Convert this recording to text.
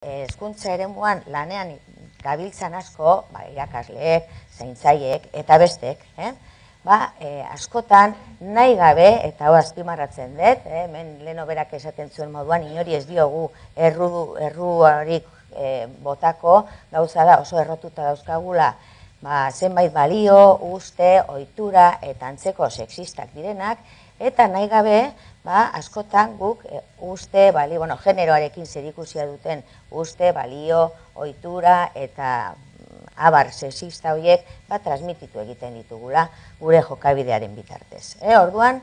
hezkuntza eremuan lanean gabiltzan asko, irakasleek, zaintzaileek eta bestek, askotan nahi gabe, eta hau azpimarratzen dut, hemen leno berak esaten zuen moduan, inori ez diogu erruarik botako, gauza da oso errotuta dauzkagula, zenbait balio, uste, ohitura eta antzeko sexistak direnak, eta nahi gabe, askotan guk uste, generoarekin zerikusia duten uste, balio, ohitura eta abar sexista horiek transmititu egiten ditugula gure jokabidearen bitartez. Orduan,